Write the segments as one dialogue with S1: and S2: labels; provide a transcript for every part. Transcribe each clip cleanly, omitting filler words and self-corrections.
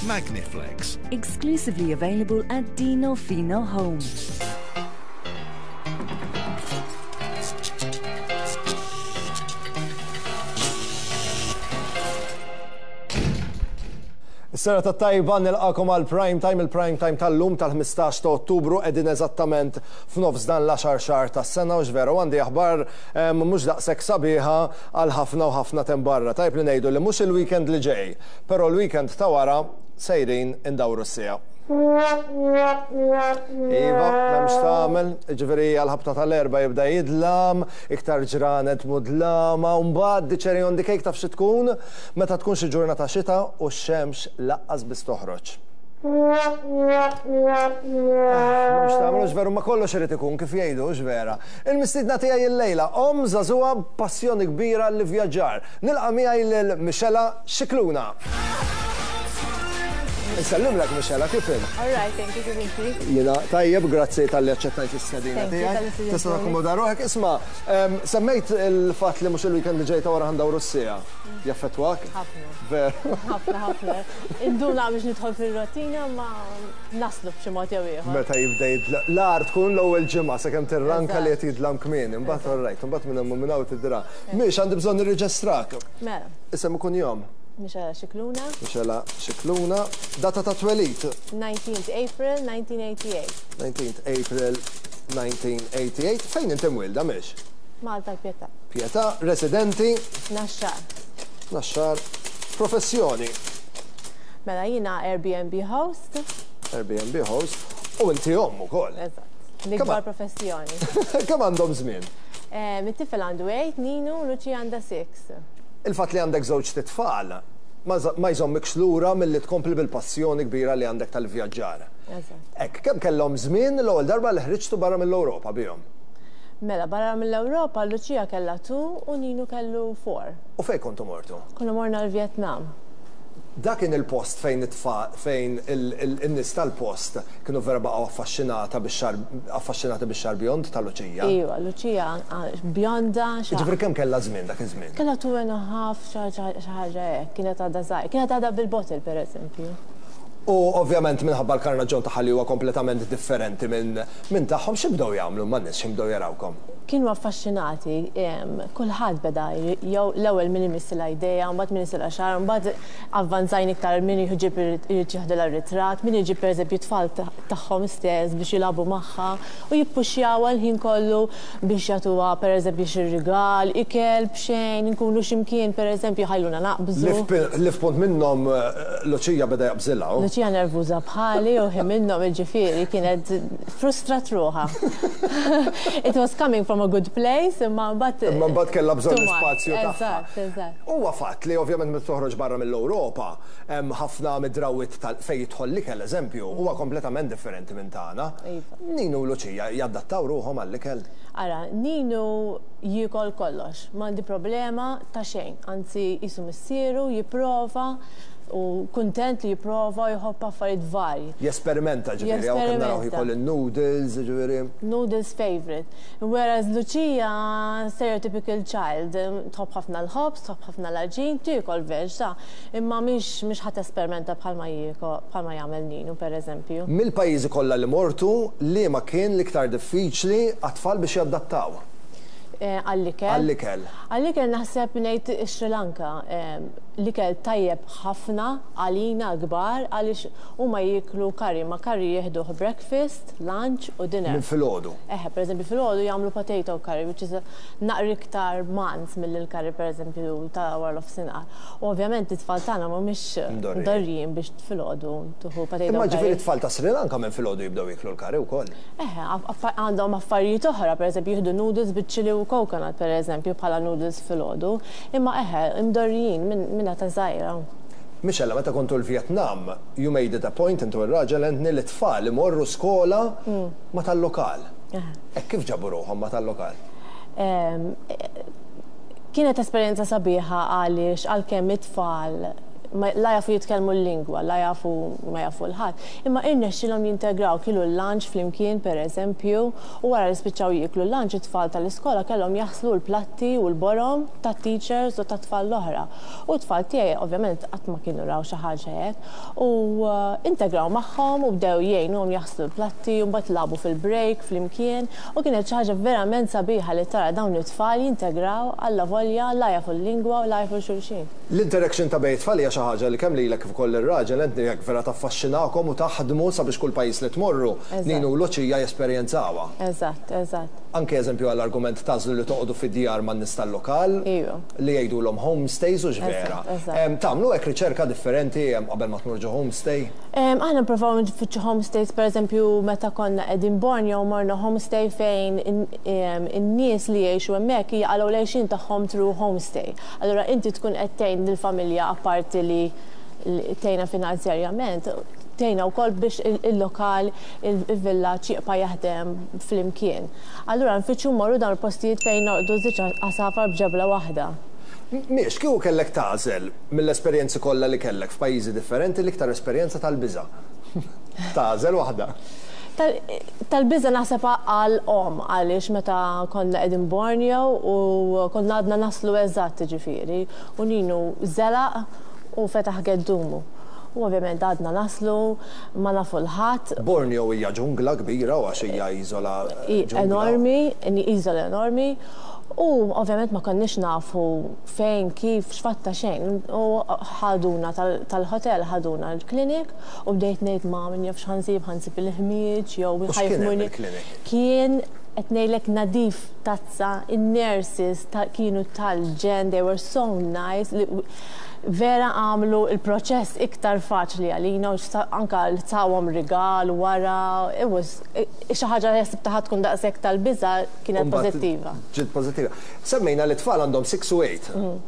S1: Magniflex.
S2: Exclusively available at Dino Fino Home.
S3: Is-serata t-tajba nilqakom għal Prime Time, il-Prime Time tal-lum tal-15 ta' Ottubru qegħdin eżattament f'nofs dan l-għaxar xahar tas-sena u x'veru għandi aħbar mhux daqshekk sabiħa għal ħafna u ħafna t'hemm barra. Tajjeb li ngħidu li mhux il-weekend li ġej, però l-weekend ta' wara sejrin indawru s-siegħa. Iva, m'hemm x'tagħmel, jiġifieri għall-ħabta tal-erbgħa jibda jidlam, iktar ġranet mudlama, u mbagħad the cherry on the cake taf xi tkun? Meta tkun xi ġurnata xita u x-xemx laqqas biss toħroġ. M'hemmx x'tagħmel, hux veru, ma kollox irid ikun kif jgħidu, hux vera? Il-mistiedna tiegħi illejla, omm żagħżugħa b'passjoni kbira għall-ivvjaġġar. Nilqa' miegħi lil Michela Scicluna. Insellimlek Michela, kif int?
S4: All right, thank you, kif inti?
S3: Jiena tajjeb, grazzi talli aċċettajt l-istedina
S4: Thank you
S3: tiegħi.
S4: tal-istedina
S3: Tista'
S4: tiegħi.
S3: takkomoda ruħek. Isma', semmejt il-fatt li mhux il-weekend li ġej ta' wara ħa ndawru s-siegħa. Jaffettwak?
S4: Ħafna.
S3: Veru.
S4: Ħafna, ħafna. Induna biex nidħol fir-rotina ma naslu b'xi mod jew ieħor.
S3: Meta jibda jidla, l-agħar tkun l-ewwel ġimgħa sakemm tirranka li qed jidlam kmieni, imbagħad all right, imbagħad minn hemm u minn hawn tidra. Mhix għandi bżonn nirreġestrak.
S4: Mela.
S3: Isem u kunjom.
S4: Michela Scicluna.
S3: Michela Scicluna. Data ta' twelid.
S4: 19th April 1988.
S3: 19th April 1988. Fejn inti mwielda Mix?
S4: Malta l-Pietà.
S3: Pietà, residenti?
S4: Naxxar.
S3: Naxxar. Professjoni?
S4: Mela jiena Airbnb host.
S3: Airbnb host. U inti omm ukoll.
S4: Eżatt. L-ikbar professjoni.
S3: Kemm għandhom żmien?
S4: It-tifel għandu 8, Ninu, u Lucia għandha 6.
S3: Il-fatt li għandek żewġt itfal ma jżommikx lura milli tkompli bil-passjoni kbira li għandek tal-vjaġġar.
S4: Eżatt.
S3: Hekk, kemm kellhom żmien l-ewwel darba li ħriġtu barra mill-Ewropa bihom?
S4: Mela, barra mill-Ewropa, Lucia kellha 2 u Ninu kellu 4.
S3: U fejn kontu mortu?
S4: Konna morna l-Vjetnam.
S3: Dak kien il-post fejn it-tfal, fejn in-nies tal-post kienu vera baqgħu affaxxinata bix-xagħar, affaxxinati bix-xagħar bjond ta' Lucia.
S4: Iva, Lucia bjonda, xagħar.
S3: Jiġifieri kemm kellha żmien dak iż-żmien?
S4: Kellha two and a half, xi ħaġa hekk, kienet għadha żgħira. Kienet għadha bil-bottle pereżempju.
S3: U ovvjament minħabba l-karnaġġon tagħha li huwa kompletament differenti minn minn tagħhom, xi bdew jagħmlu man-nies xi bdew jarawkom?
S4: Kienu affaxxinati, kulħadd beda jew l-ewwel min imissilha jdejha, mbagħad min isilha xagħarha, mbagħad avvanzajna iktar min jġib irid jieħdilha ritratt, min iġib pereżempju t-tfal tagħhom stess biex jilagħbu magħha u jippuxjawha l-ħin kollu biex jagħtuha pereżempju xi rigal, ikel b'xejn, inkunu xi mkien pereżempju jħalluna naqbżu.
S3: Li f'punt minnhom Lucia beda jaqbżilha hu.
S4: Lucia nervuża bħali u ħin minnhom jiġifieri kienet frustrat ruħha. It was coming from a good place imma mbagħad.
S3: Imma mbagħad kellha bżonn l-ispazju tagħha.
S4: Eżatt, eżatt.
S3: Huwa fatt li ovvjament meta toħroġ barra mill-Ewropa, hemm ħafna mid-drawwiet tal fejn jidħol l-ikel eżempju, huwa kompletament differenti minn tagħna.
S4: Iva.
S3: Ninu u Lucia jadattaw ruħhom għall-ikel?
S4: Ara, Ninu jiekol kollox, m'għandi problema ta' xejn, anzi qisu missieru jipprova u kuntent li jipprova u jħobb affarijiet varji.
S3: Jesperimenta ġifieri, hawn kemm narawh jiekol in-noodles, ġifieri.
S4: Noodles favourite. Whereas Lucia, stereotypical child, tħobb ħafna l-ħobż, tħobb ħafna l-għaġin, tiekol veg ta' imma mhix mhix ħa tesperimenta bħalma jieko bħalma jagħmel Ninu pereżempju.
S3: Mill-pajjiżi kollha li mortu, liema kien l-iktar diffiċli għat-tfal biex jadattaw?
S4: Għall-ikel?
S3: Għall-ikel.
S4: Għall-ikel naħseb ngħid ix-Sri Lanka. L-ikel tajjeb ħafna għalina l-kbar għaliex huma jieklu curry, ma curry jieħduh breakfast, lunch u dinner.
S3: Minn filgħodu?
S4: Eħe, pereżempju filgħodu jagħmlu potato curry which is naqra iktar manz milli l-curry pereżempju ta' wara nofsinhar. U ovvjament it-tfal tagħna mhumiex mdorrijin biex filgħodu tieħu potato curry.
S3: Imma ġifieri t-tfal ta' Sri Lanka minn filgħodu jibdew jieklu l-curry wkoll?
S4: Eħe, għandhom affarijiet oħra, pereżempju jieħdu noodles biċ-chili u coconut pereżempju bħala noodles filgħodu. Imma eħe, imdorrijin minn età żgħira.
S3: Michella, meta kontu l-Vjetnam, you made it a point inti u r-raġel Anthony li t-tfal imorru skola ma' tal-lokal. Hekk kif ġabu ruħhom ma' tal-lokal?
S4: Kienet esperjenza sabiħa għaliex għalkemm it-tfal. La jafu jitkellmu l-lingwa, la jafu ma jafu 'l ħadd, imma irnexxielhom jintegraw, kielu l-lunch flimkien pereżempju, u wara li spiċċaw jieklu l-lunch it-tfal tal-iskola kellhom jaħslu l-platti u l-borom tat-teachers u tat-tfal l-oħra. U t-tfal tiegħi ovvjament qatt ma kienu raw xi ħaġa hekk u integraw magħhom u bdew jgħinuhom jaħslu l-platti u mbagħad lagħbu fil-break flimkien u kienet xi ħaġa verament sabiħa li tara dawn it-tfal jintegraw allavolja la jafu l-lingwa u la jafu 'l xulxin.
S3: L-interaction ta' bejn it-tfal hija xi ħaġa li kemm lilek kif ukoll lir-raġel Anthony hekk vera taffaxxinakom u taħdmu sabiex kull pajjiż li tmorru, Ninu u Lucia jesperjenzawha.
S4: Eżatt, eżatt.
S3: Anke eżempju għall-argument tagħżlu li toqogħdu fi djar man-nies tal-lokal, li jgħidulhom homestays hux vera. Tagħmlu hekk riċerka differenti qabel ma tmur ġo homestay?
S4: Aħna nipprovaw nfittxu homestays, pereżempju meta konna qegħdin Borneo morna homestay fejn in-nies li jgħixu hemmhekk jaqalgħu l-għixien tagħhom through homestay. Allura inti tkun qed tgħin lill-familja apparti li tgħinha finanzjarjament, tgħinha wkoll biex il-lokal, il-villaġġ jibqa' jaħdem flimkien. Allura nfittxu mmorru dawn il-postijiet fejn norqdu żewġ għasafar b'ġebla waħda.
S3: Mhix, kieku kellek tagħżel mill-esperjenzi kollha li kellek f'pajjiżi differenti l-iktar esperjenza tal-biża'. Tagħżel waħda.
S4: Tal-biża' naħseb għal omm għaliex meta konna qegħdin Borneo u konna għadna naslu eżatt jiġifieri u Ninu żelaq u fetaħ geddumu. U ovvjament għadna naslu, ma nafu 'l ħadd.
S3: Borneo hija ġungla kbira u għax hija iżola ġungla.
S4: Enormi, iżola enormi. U ovvjament ma konniex nafu fejn, kif, x'fatta xejn. U ħaduna tal-hotel, ħaduna l-clinic. U bdejt ngħid ma min jaf x'ħa nsib, ħa nsib il-ħmieġ jew
S3: U x'kien hemm il-clinic?
S4: Kien qed ngħidlek nadif tazza, in-nurses kienu tal-ġenn, they were so nice, li vera għamlu l-proċess iktar faċli għalina u anka tawhom rigal wara, it was xi ħaġa li ħsibtha ħa tkun daqshekk tal-biża' kienet pożittiva.
S3: Ġiet pożittiva. Semmejna li t-tfal għandhom 6 u 8.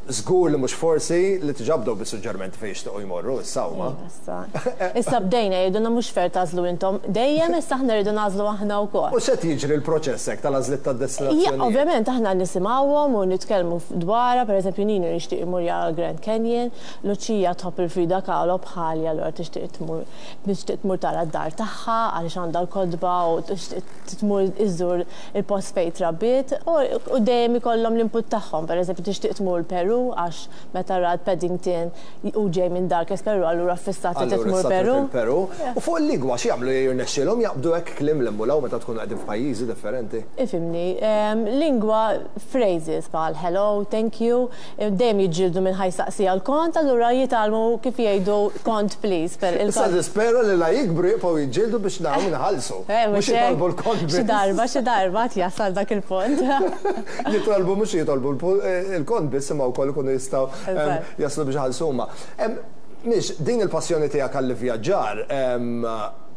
S3: Żgur li mhux forsi li diġà bdew bis-suġġerimenti fejn jixtiequ jmorru issa huma.
S4: Issa. Issa bdejna jgħidulna mhux fair tagħżlu intom dejjem issa aħna rridu nagħżlu aħna wkoll.
S3: U x'qed jiġri l-proċess hekk tal-għażliet tad-destinazzjonijiet?
S4: Ovvjament aħna nisimgħuhom u nitkellmu dwarha, pereżempju Nino jixtieq imur jara l-Grand Canyon, Lucia tħobb il-Frida Kahlo bħali allura tixtieq tmur tixtieq tmur tara d-dar tagħha għaliex għandha l-kotba u tixtieq tmur iżżur il-post fejn trabbiet u dejjem ikollhom l-input tagħhom. Pereżempju tixtieq tmur Peru għax meta rat Paddington hu ġej minn Darkest Peru allura ffissat li trid tmur Peru.
S3: Peru. U fuq il-lingwa x'jagħmlu jirnexxielhom jaqbdu hekk kliem 'l hemm u 'l hawn meta tkunu qegħdin f'pajjiżi differenti?
S4: Ifhimni, lingwa phrases bħal hello, thank you, dejjem jiġġieldu min ħa jsaqsi għall-kont allura jitgħallmu kif jgħidu kont please.
S3: Issa nispera li la jikbru jibqgħu jiġġieldu biex naraw min iħallsu. Mhux jitolbu l-kont biss.
S4: Xi darba, xi darba għad jasal dak il-punt.
S3: Jitolbu mhux jitolbu l-kont biss imma wkoll ikunu jistgħu jaslu biex iħallsu huma. Mhix, din il-passjoni tiegħek għall-ivvjaġġar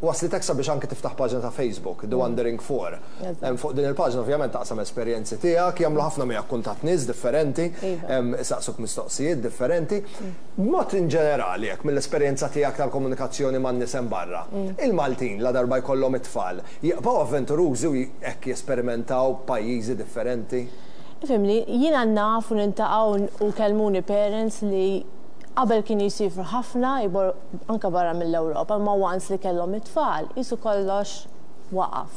S3: waslitek sabiex anke tiftaħ paġna ta' Facebook, The Wandering Four. Fuq din il-paġna ovvjament taqsam esperjenzi tiegħek, jagħmlu ħafna miegħek kuntatt nies differenti, isaqsuk mistoqsijiet differenti. B'mod in ġenerali hekk mill-esperjenza tiegħek tal-komunikazzjoni man-nies hemm barra, il-Maltin ladarba jkollhom it-tfal, jibqgħu avventurużi u hekk jesperimentaw b'pajjiżi differenti?
S4: Ifhimni, jiena naf u niltaqa' u kellmuni parents li qabel kienu jsiefru ħafna, anke barra mill-Ewropa, imma once li kellhom it-tfal, qisu kollox waqaf.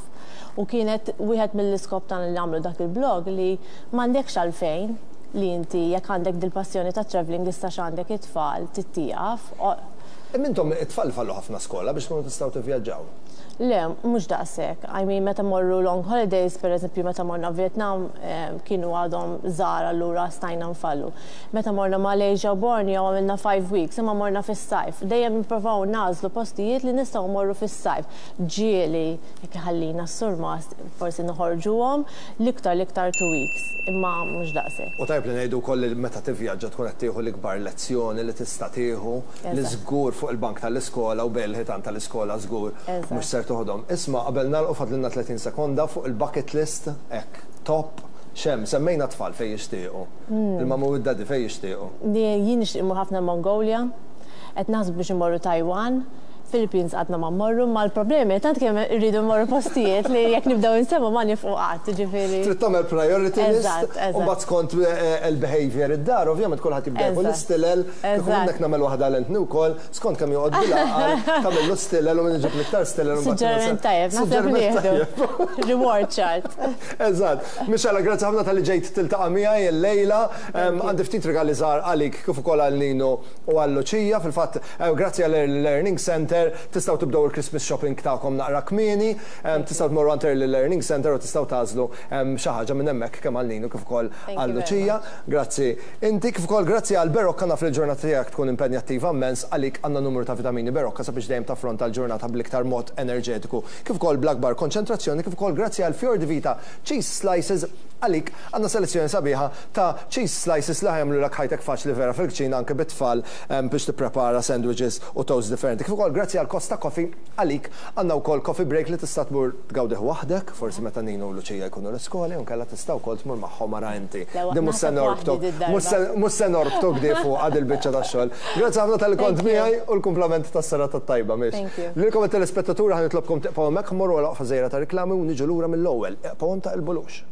S4: U kienet wieħed mill-iskop tagħna li nagħmlu dak il-blog li m'għandekx għalfejn li inti jekk għandek dil-passjoni ta' travelling issa x'għandek it-tfal tittieqaf.
S3: Imma intom it-tfal fallu ħafna skola biex tkunu tistgħu tivvjaġġaw?
S4: Le, mhux daqshekk. I mean meta mmorru long holidays, pereżempju meta morna Vietnam kienu għadhom żgħar allura stajna nfallu. Meta morna Malaysia u Borneo għamilna 5 weeks imma morna fis-sajf. Dejjem nipprovaw nagħżlu postijiet li nistgħu mmorru fis-sajf. Ġieli jekk iħallina s-surmast forsi noħorġuhom l-iktar l-iktar 2 weeks imma mhux daqshekk.
S3: U tajjeb li ngħidu wkoll li meta tivvjaġġa tkun qed tieħu l-ikbar lezzjoni li tista' tieħu li żgur fuq il-bank tal-iskola u bejn il-ħitan tal-iskola żgur mhux ser toħodhom. Isma' qabel nagħlqu fadlilna 30 sekonda fuq il-bucket list hekk top x'hemm? Semmejna t-tfal fejn jixtiequ. Il-mama u d-daddy fejn jixtiequ?
S4: Jien nixtieq immur ħafna l-Mongolia, qed naħsbu biex immorru Taiwan. Philippines għadna ma mmorru, ma l-problemi tant kemm irridu mmorru postijiet li jekk nibdew insemmu ma nifqu qatt, ġifieri.
S3: Trid tagħmel priority list u mbagħad skont il-behavior id-dar, ovvjament kulħadd jibda jieħu l-istilel, kieku minnek nagħmel waħda għal Anthony wkoll, skont kemm joqgħod bil-għaqal, tagħmillu stilel u min iġib l-iktar stilel
S4: u mbagħad. Suġġeriment tajjeb, naħseb li nieħdu. Reward chart.
S3: Eżatt. Michela, grazzi ħafna talli ġejt tiltaqa' miegħi llejla. Għandi ftit rigali żgħar għalik kif ukoll għal Nino u għal Lucia. Fil-fatt, Grazzi għal Early Learning Centre, tistgħu tibdew il-Christmas shopping tagħkom naqra kmieni. Tistgħu tmorru għand Early Learning Centre u tistgħu tagħżlu xi ħaġa minn hemmhekk kemm għal Ninu kif ukoll għal Lucia. Grazzi inti, kif ukoll grazzi għal Berocca naf li l-ġurnata tiegħek tkun impenjattiva mmens, għalik għandna numru ta' vitamini Berocca sabiex dejjem taffronta l-ġurnata bl-iktar mod enerġetiku kif ukoll bl-akbar konċentrazzjoni kif ukoll grazzi għal Fior di Vita Cheese Slices għalik għandna selezzjoni sabiħa ta' cheese slices li ħa jagħmlulek ħajtek faċli vera fil-kċina anke bit-tfal biex tipprepara sandwiches u toast differenti. Kif ukoll grazzi għal Costa Coffee għalik għandna wkoll coffee break li tista' tmur tgawdih waħdek, forsi meta Nino u Lucia jkunu l-iskola jew inkella tista' wkoll tmur magħhom ara inti. Din mhux se norbtok, mhux se norbtok di fuqha dil-biċċa tax-xogħol. Grazzi ħafna talli kont miegħi u l-kumplament tas-serata t-tajba, Mish. Lilkom it-telespettaturi ħa nitlobkom tibqgħu hemmhekk, mmorru għal waqfa żgħira ta' riklami u niġu lura mill-ewwel. Ibqgħu hemm taqilbulux.